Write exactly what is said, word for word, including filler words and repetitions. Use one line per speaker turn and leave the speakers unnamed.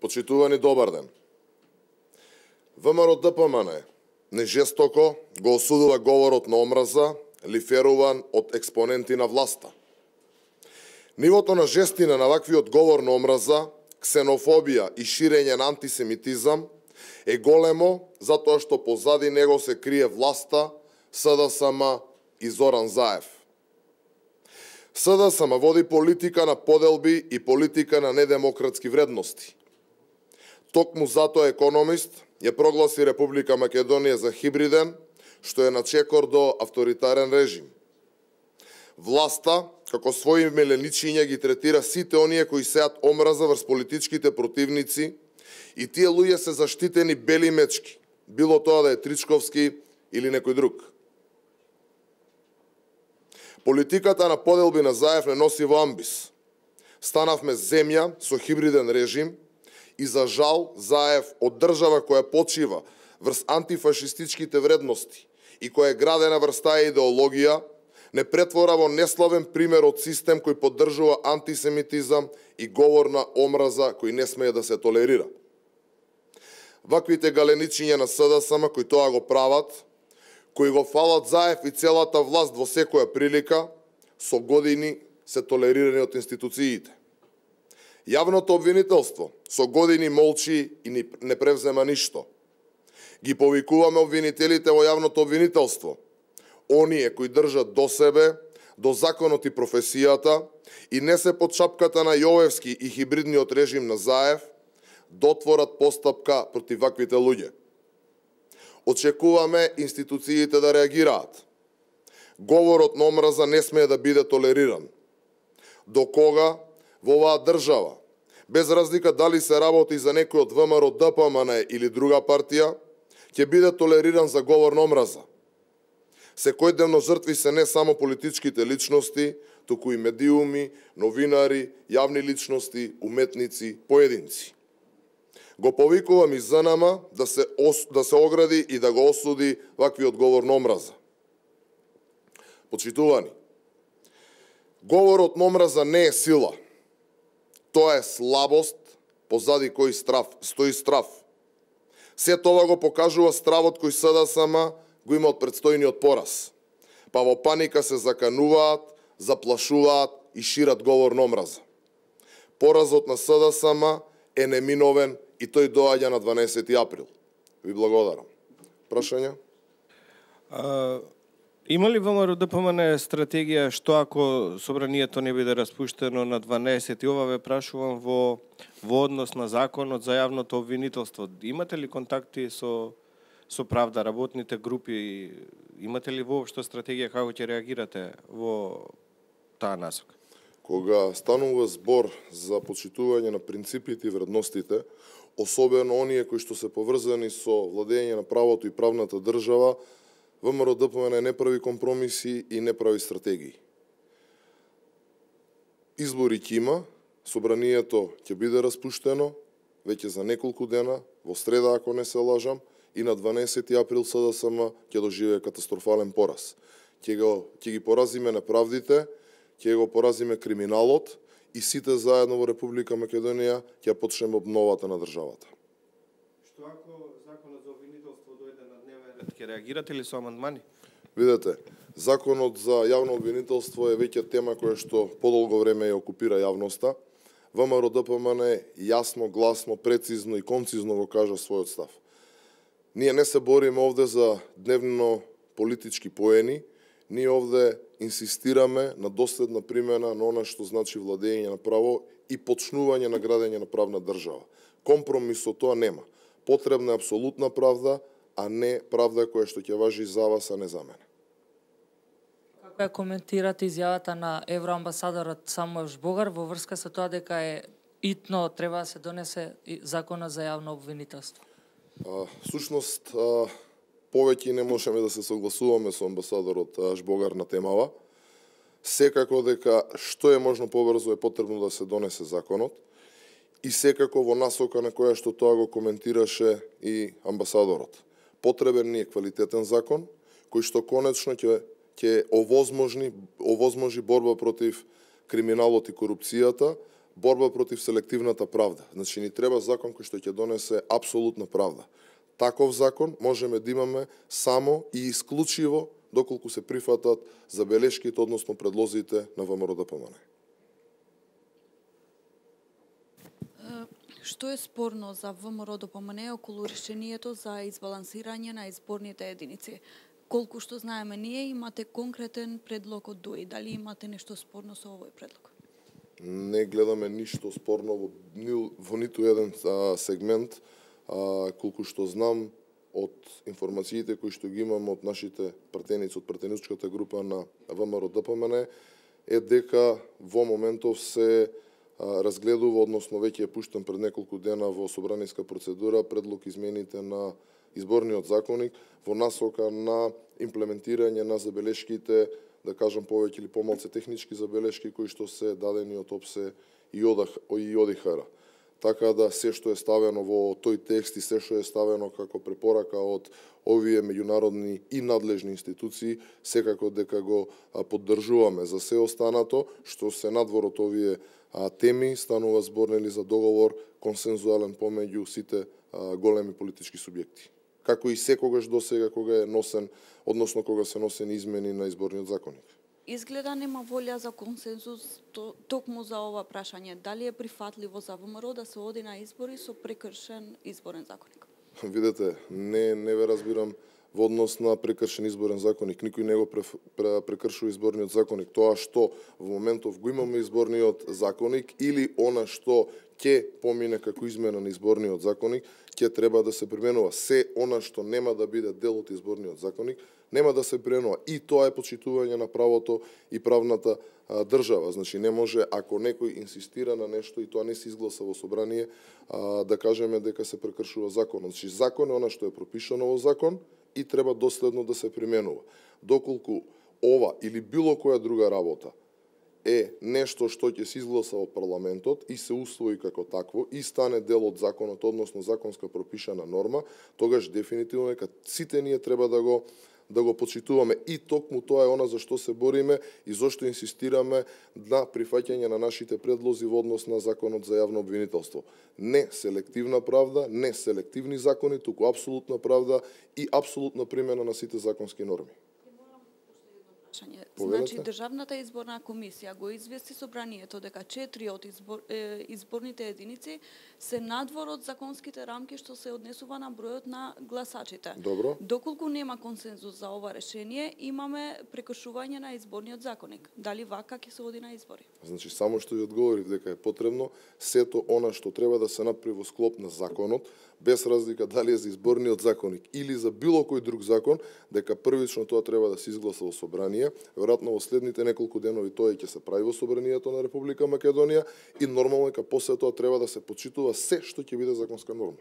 Почитувани, добар ден. ВМРО-ДПМН нежестоко го осудува говорот на омраза, лиферуван од експоненти на власта. Нивото на жестина на ваквиот говор на омраза, ксенофобија и ширење на антисемитизам е големо затоа што позади него се крие власта, СДСМ и Зоран Заев. СДСМ води политика на поделби и политика на недемократски вредности. Токму затоа Економист ја прогласи Република Македонија за хибриден, што е на чекор до авторитарен режим. Власта, како своји меленичиња, ги третира сите оние кои сеат омраза врз политичките противници и тие луѓе се заштитени бели мечки, било тоа да е Тричковски или некој друг. Политиката на поделби на Заев не носи во амбис. Станавме земја со хибриден режим и за жал Заев од држава која почива врз антифашистичките вредности и која е градена врз таа идеологија, не претвора во неславен пример од систем кој поддржува антисемитизам и говор на омраза кој не смее да се толерира. Ваквите галеничиња на СДСМ кои тоа го прават, кои го фалат Заев и целата власт во секоја прилика, со години се толерирани од институциите. Јавното обвинителство со години молчи и не превзема ништо. Ги повикуваме обвинителите во јавното обвинителство, оние кои држат до себе, до законот и професијата и не се под шапката на Јовевски и хибридниот режим на Заев, дотворат постапка против ваквите луѓе. Очекуваме институциите да реагираат. Говорот на омраза не смее да биде толериран. До кога во оваа држава, без разлика дали се работи за некој од ВМРО-ДПМН или друга партија, ќе биде толериран за говор на омраза? Секојдневно жртви се не само политичките личности, туку и медиуми, новинари, јавни личности, уметници, поединци. Го повикувам и ЗНМ да се, ос, да се огради и да го осуди ваквиот говор на омраза. Почитувани, говорот на омраза не е сила. Тоа е слабост, позади кој страв, стои страв. Се тоа го покажува стравот кој СДСМ го има од предстојниот пораз. Па во паника се закануваат, заплашуваат и шират говор на омраза. Поразот на СДСМ е неминовен и тој доаѓа на дванаесети април. Ви благодарам. Прашања?
А, има ли ВМРО-ДПМН стратегија што ако собранието не биде распуштено на дванаесети? Ова ве прашувам во, во однос на законот за јавното обвинителство. Имате ли контакти со, со правда, работните групи? Имате ли воопшто стратегија како ќе реагирате во таа насока?
Кога станува збор за почитување на принципите и вредностите, особено оние кои што се поврзани со владење на правото и правната држава, ВМРО-ДПМН не прави компромиси и не прави стратегии. Избори ќе има, собранието ќе биде распуштено веќе за неколку дена, во среда ако не се лажам, и на дванаесети април СДСМ ќе доживее катастрофален пораз. Ќе го ќе ги поразиме неправдите, ќе го поразиме криминалот и сите заедно во Република Македонија ќе почнеме обновата на државата.
Што ако законот за обвинителство дојде на дневен ред, ќе реагирате ли со амандмани?
Видете, законот за јавно обвинителство е веќе тема која што подолго време ја окупира јавноста. ВМРО-ДПМН јасно, гласно, прецизно и концизно го кажа својот став. Ние не се бориме овде за дневно политички поени, ние овде инсистираме на доследна примена на она што значи владење на право и почнување на градење на правна држава. Компромис со тоа нема. Потребна е апсолутна правда, а не правда која што ќе важи за вас, а не за мене.
Како ја коментирате изјавата на евроамбасадорот Самуел Жбогар во врска со тоа дека е итно треба да се донесе законот за јавно обвинителство?
А, сушност, а, повеќе не можеме да се согласуваме со амбасадорот Жбогар на темава. Секако дека што е можно побрзо е потребно да се донесе законот и секако во насока на која што тоа го коментираше и амбасадорот. Потребен ни е квалитетен закон кој што конечно ќе ќе овозможни овозможи борба против криминалот и корупцијата, борба против селективната правда. Значи ни треба закон кој што ќе донесе апсолутна правда. Таков закон можеме да имаме само и исклучиво доколку се прифатат забелешките, односно предлозите на ВМРО-ДПМНЕ.
Што е спорно за ВМРО-ДПМНЕ околу решението за избалансирање на изборните единици? Колку што знаеме ние, имате конкретен предлог од ДОИ. Дали имате нешто спорно со овој предлог?
Не гледаме ништо спорно во, во ниту еден а, сегмент. А, колку што знам од информациите кои што ги имам од нашите пратеници од пратеничката група на ВМРО-ДПМНЕ е дека во моментов се а, разгледува, односно веќе е пуштен пред неколку дена во собраниска процедура предлог измените на изборниот законник во насока на имплементирање на забелешките, да кажам повеќе или помалку технички забелешки кои што се дадени од ОПСЕ и ОДИХР. Така да се што е ставено во тој текст и се што е ставено како препорака од овие меѓународни и надлежни институции, секако дека го поддржуваме. За се останато, што се надвор од овие теми, станува збор нели за договор консензуален помеѓу сите големи политички субјекти. Како и секогаш досега кога е носен, односно кога се носени измени на изборниот законник.
Изгледа нема волја за консензус токму за ова прашање. Дали е прифатливо за ВМРО да се оди на избори со прекршен изборен законник?
Видете, не не ве разбирам во однос на прекршен изборен законник. Никој не го прекршува изборниот законник. Тоа што во моментов го имаме изборниот законник или она што ќе помине како измена на изборниот законник, ќе треба да се применува. Се она што нема да биде дел од изборниот законник, нема да се применува. И тоа е почитување на правото и правната а, држава. Значи не може, ако некој инсистира на нешто и тоа не се изгласа во собрание, а, да кажеме дека се прекршува законот. Значи закон е она што е пропишано во закон и треба доследно да се применува. Доколку ова или било која друга работа е нешто што ќе се изгласа во парламентот и се усвои како такво и стане дел од законот, односно законска пропишана норма, тогаш дефинитивно дека сите ние треба да го да го почитуваме и токму тоа е она за што се бориме и зошто инсистираме на прифаќање на нашите предлози во однос на законот за јавно обвинителство. Не селективна правда, не селективни закони, туку апсолутна правда и апсолутна примена на сите законски норми.
Значи, Државната изборна комисија го извести собранието дека четири од избор, е, изборните единици се надвор од законските рамки што се однесува на бројот на гласачите.
Добро.
Доколку нема консензус за ова решение, имаме прекршување на изборниот законник. Дали вака ќе се оди на избори?
Значи, само што ви одговорив дека е потребно сето она што треба да се направи во склоп на законот, без разлика дали е за изборниот законник или за било кој друг закон, дека првично тоа треба да се изгласа во собрание. Веројатно во следните неколку денови тоа ќе се прави во собранието на Република Македонија и нормално дека после тоа треба да се почитува се што ќе биде законска норма.